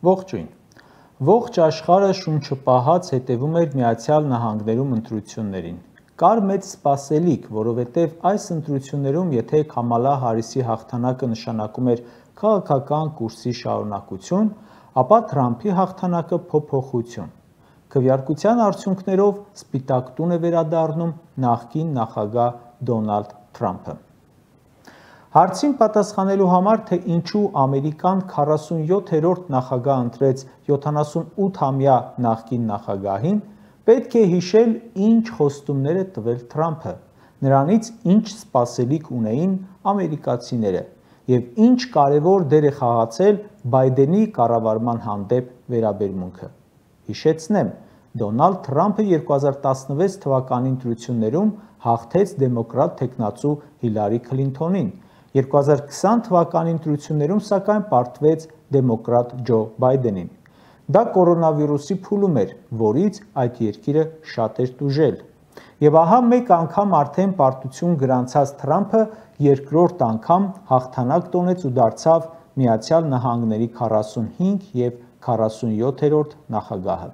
Ողջույն։ Ողջ աշխարհը շունչը պահած հետևում էր Միացյալ Նահանգներում ընտրություններին։ Կար մեծ սպասելիք, որովհետև այս ընտրություններում, եթե Քամալա Հարիսի հաղթանակը նշանակում էր քաղաքական կուրսի շարունակություն, ապա Թրամփի հաղթանակը փոփոխություն։ Քվեարկության արդյունքներով Սպիտակ տուն է վերադառնում նախկին նախագահ Դոնալդ Թրամփը։ Հարցին պատասխանելու համար, թե ինչու Ամերիկան 47-րդ նախագահ ընտրեց 78-ամյա նախկին նախագահին, պետք է հիշել, ինչ խոստումներ է տվել Թրամփը, նրանից ինչ սպասելիք ունեին ամերիկացիները և ինչ կարևոր դեր է խաղացել Բայդենի կառավարման հանդեպ վերաբերմունքը։ Հիշեցնեմ, Դոնալդ Թրամփը 2016 թվականի ընտրություններում հաղթեց դեմոկրատ թեկնածու Հիլարի Քլինթոնին, 2020 թվականի ընտրություններում սակայն պարտվեց դեմոկրատ Ջո Բայդենին։ Դա կորոնավիրուսի փուլում էր, որից այդ երկիրը շատ էր տուժել։ Եվ ահա մեկ անգամ արդեն պարտություն գրանցած Թրամփը երկրորդ անգամ հաղթանակ տոնեց ու դարձավ Միացյալ Նահանգների 45 և 47-րդ նախագահը։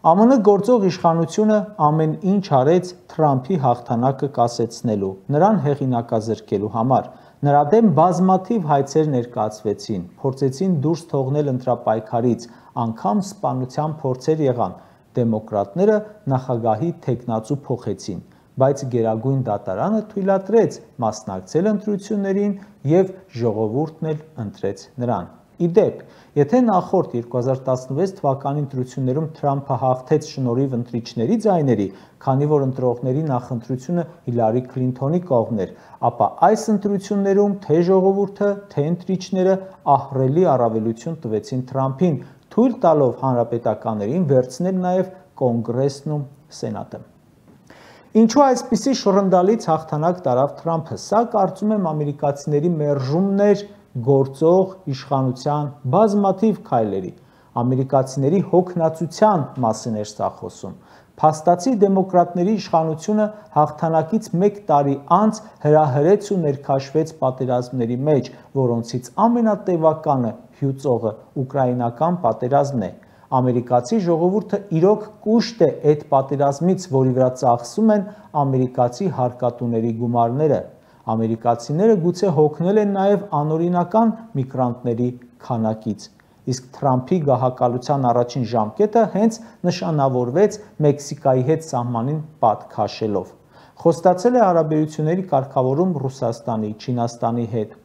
ԱՄՆ գործող իշխանությունը ամեն ինչ արեց Թրամփի հաղթանակը կասեցնելու, նրան հեղինակազրկելու համար։ Նրա դեմ բազմաթիվ հայցեր ներկայացվեցին, փորձեցին դուրս թողնել ընտրապայքարից, անգամ սպանության փորձեր եղան։ Դեմոկրատները նախագահի թեկնածու փոխեցին, բայց Գերագույն դատարանը թույլատրեց մասնակցել ընտրություններին և ժողովուրդն էլ ընտրեց նրան։ Ի դեպ, եթե նախորդ 2016 թվականի ընտրություններում Թրամփը հաղթեց շնորհիվ ընտրիչների ձայների, քանի որ ընտրողների նախընտրությունը Հիլարի Քլինթոնի կողմն էր, ապա այս ընտրություններում թե ժողովուրդը, թե ընտրիչները ահռելի առավելություն տվեցին Թրամփին, թույլ տալով հանրապետականներին վերցնել նաև Կոնգրեսն ու Սենատը։ Ինչու այսպիսի շռնդալից հաղթանակ տարավ Թրամփը, սա կարծում եմ ամերիկացիների մերժումն էր գործող իշխանության բազմաթիվ քայլերի, ամերիկացիների հոգնածության մասին էր սա խոսում։ Փաստացի դեմոկրատների իշխանությունը հաղթանակից մեկ տարի անց հրահրեց ու ներքաշվեց պատերազմների մեջ, որոնցից ամենատևականը հյուծողը ուկրաինական պատերազմն է։ Ամերիկացի ժողովուրդը իրոք կուշտ է այդ պատերազմից, որի վրա ծախսում են ամերիկացի հարկատուների գումարները։ Ամերիկացիները գուցե հոգնել են նաև անօրինական միգրանտների քանակից, իսկ Թրամփի գահակալության առաջին ժամկետը հենց նշանավորվեց Մեքսիկայի հետ սահմանին պատ քաշելով։ Խոստացել է հարաբերությունների կարգավորում Ռուսաստանի, Չինաստանի հետ։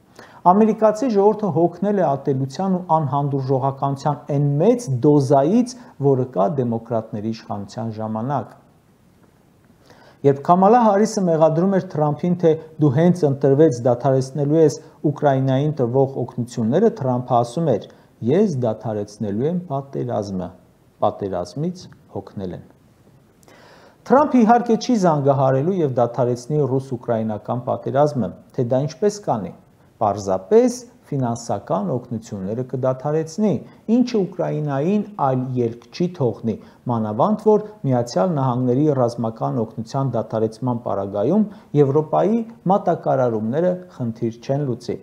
Ամերիկացի ժողովուրդը հոգնել է ատելության ու անհանդուրժողականության այն մեծ դոզայից, որը կա դեմոկրատների իշխանության ժամանակ։ Երբ Քամալա Հարիսը մեղադրում էր Թրամփին, թե դու հենց ընտրվեց դադարեցնելու ես Ուկրաինային տրվող օգնությունները, Թրամփը ասում էր. ես դադարեցնելու եմ պատերազմը, պատերազմից հոգնել են։ Թրամփը իհարկե չի զանգահարելու և դադարեցնի ռուս-ուկրաինական պատերազմը, թե դա ինչպես կանի։ Պարզապես ֆինանսական օգնությունները կդադարեցնի, ինչը Ուկրաինային այլ ելք չի թողնի, մանավանդ որ Միացյալ Նահանգների ռազմական օգնության դադարեցման պարագայում Եվրոպայի մատակարարումները խնդիր չեն լուծի։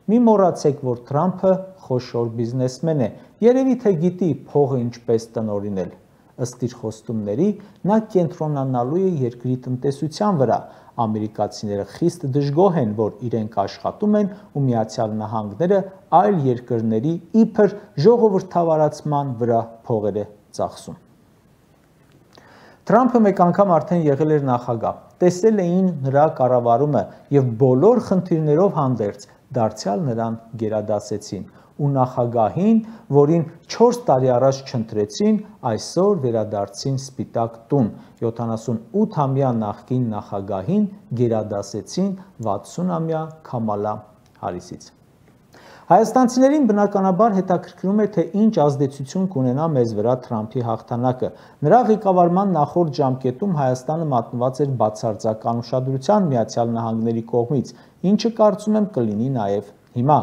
Մի մոռացեք, որ Թրամփը խոշոր բիզնեսմեն է, երևի թե գիտի փողը ինչպես տնօրինել։ Ըստ իր խոստումների, նա կենտրոնանալու է երկրի տնտեսության վրա։ Ամերիկացիները խիստ դժգոհ են, որ իրենք աշխատում են ու Միացյալ Նահանգները այլ երկրների իբր ժողովրդավարացման վրա փողեր է ծախսում։ Թրամփը մեկ անգամ արդեն եղել էր նախագահ, տեսել էին նրա կառավարումը և բոլոր խնդիրներով հանդերձ դարձյալ նրան գերադասեցին ու նախագահին, որին 4 տարի առաջ չընտրեցին, այսօր վերադարձին Սպիտակ տուն, 78-ամյա նախկին նախագահին գերադասեցին 60-ամյա Քամալա Հարիսից։ Հայաստանցիներին բնականաբար հետաքրքրում է, թե ինչ ազդեցություն կունենա մեզ վրա Թրամփի հաղթանակը։ Նրա ղեկավարման նախորդ ժամկետում Հայաստանը մատնված էր բացարձակ անուշադրության Միացյալ Նահանգների կողմից, ինչը կարծում եմ կլինի նաև Հիմա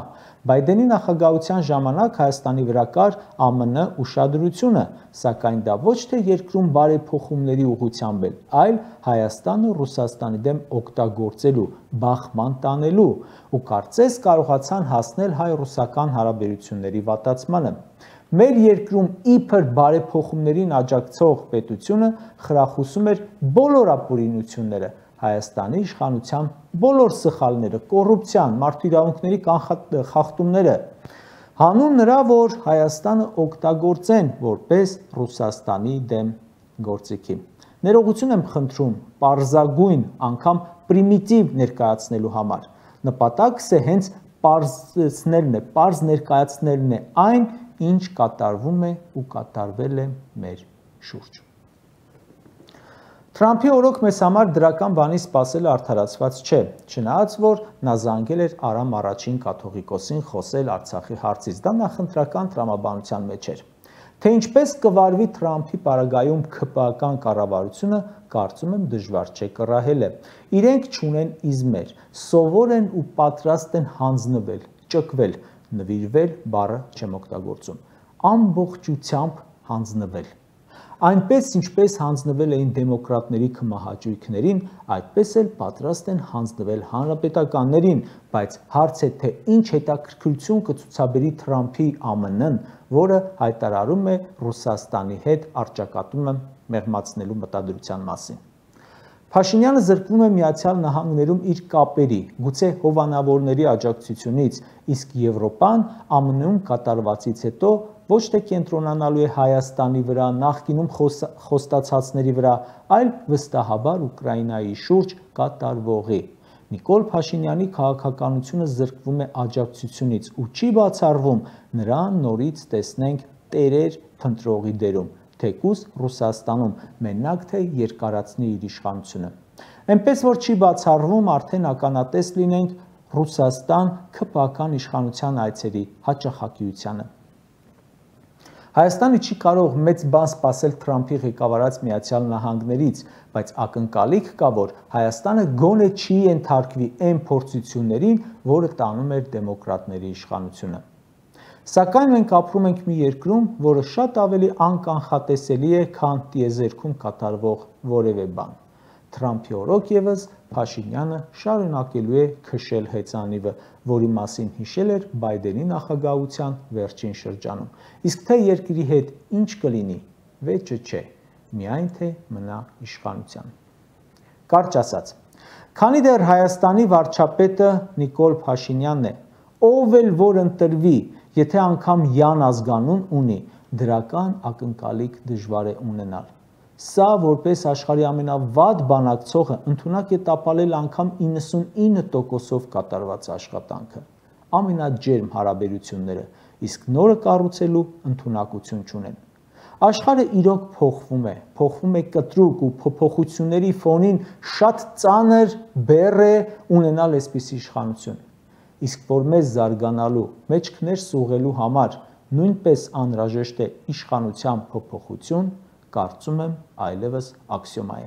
Բայդենի նախագահության ժամանակ Հայաստանի վրա կար ԱՄՆ ուշադրությունը, սակայն դա ոչ թե երկրում բարեփոխումների ուղղությամբ էր, այլ Հայաստանը Ռուսաստանի դեմ օգտագործելու, բախման տանելու ու կարծես կարողացան հասնել հայ-ռուսական հարաբերությունների վատացմանը։ Մեր երկրում իբր բարեփոխումներին աջակցող պետությունը խրախուսում էր բոլոր ապօրինությունները, Հայաստանի իշխանության բոլոր սխալները, կոռուպցիան, մարդու իրավունքների խախտումները, հանուն նրա, որ Հայաստանը օգտագործեն որպես Ռուսաստանի դեմ գործիքի։ Ներողություն եմ խնդրում պարզագույն, անգամ պրիմիտիվ ներկայացնելու համար։ Նպատակս է հենց պարզեցնելն է, պարզ ներկայացնելն է այն, ինչ կատարվում է ու կատարվել է մեր շուրջ։ Թրամփի օրոք մեզ համար դրական բանի սպասելը արդարացված չէ, չնայած որ նա զանգել էր Արամ առաջին կաթողիկոսին խոսել Արցախի հարցից, դա նախընտրական տրամաբանության մեջ էր։ Թե ինչպես կվարվի Թրամփի պարագայում ՔՊԱ-կան կառավարությունը, կարծում եմ դժվար չէ կռահելը։ Իրենք չունեն իզմեր, սովոր են ու պատրաստ են հանձնվել, ճկվել, նվիրվել բառը չեմ օգտագործում, ամբողջությամբ հանձնվել։ Այնպես ինչպես հանձնվել էին դեմոկրատների քմահաճույքներին, այդպես էլ պատրաստ են հանձնվել հանրապետականներին, բայց հարց է թե ինչ հետաքրքրություն կցուցաբերի Թրամփի ԱՄՆ-ն, որը հայտարարում է Ռուսաստանի հետ առճակատումը մեղմացնելու մտադրության մասին։ Փաշինյանը զրկվում է Միացյալ Նահանգներում իր կապերի, գուցե հովանավորների աջակցությունից, իսկ Եվրոպան ԱՄՆ-ում կատարվածից հետո ոչ թե կենտրոնանալու է Հայաստանի վրա, նախկինում խոստացածների վրա, այլ վստահաբար Ուկրաինայի շուրջ կատարվողի։ Նիկոլ Փաշինյանի քաղաքականությունը զրկվում է աջակցությունից ու չի բացառվում նրան նորից տեսնենք տերեր փնտրողի դերում, թեկուզ Ռուսաստանում, մենակ թե երկարացնի իր իշխանությունը։ Այնպես որ չի բացառվում արդեն ականատես լինենք Ռուսաստան ՔՊԱ-կան իշխանության այցերի հաճախակիությանը։ Հայաստանը չի կարող մեծ բան սպասել Թրամփի ղեկավարած Միացյալ Նահանգներից, բայց ակնկալիք կա, որ Հայաստանը գոնե չի ենթարկվի այն փորձություններին, որը տանում էր դեմոկրատների իշխանությունը։ Սակայն մենք ապրում ենք մի երկրում, որը շատ ավելի անկանխատեսելի է, քան տիեզերքում կատարվող որևէ բան։ Թրամփի օրոք ևս Փաշինյանը շարունակելու է քշել հեծանիվը, որի մասին հիշել էր Բայդենի նախագահության վերջին շրջանում։ Իսկ թե երկրի հետ ինչ կլինի, վեճը չէ, միայն թե մնա իշխանության։ Կարճ ասած, քանի դեռ Հայաստանի վարչապետը Նիկոլ Փաշինյանն է, ով էլ որ ընտրվի, եթե անգամ յան ազգանուն ունի, դրական ակնկալիք դժվար է ունենալ։ Սա որպես աշխարհի ամենավատ բանակցողը ընդունակ է տապալել անգամ 99%-ով կատարված աշխատանքը, ամենաջերմ հարաբերությունները, իսկ նորը կառուցելու ընդունակություն չունեն։ Աշխարհը իրոք փոխվում է կտրուկ ու փոփոխությունների ֆոնին շատ ծանր բեռ է ունենալ այսպիսի իշխանություն։ Իսկ որ մեզ զարգանալու, մեջքներ սուղելու համար նույնպես անհրաժեշտ է իշխանության փոփոխություն, կարծում եմ այլևս աքսիոմա է։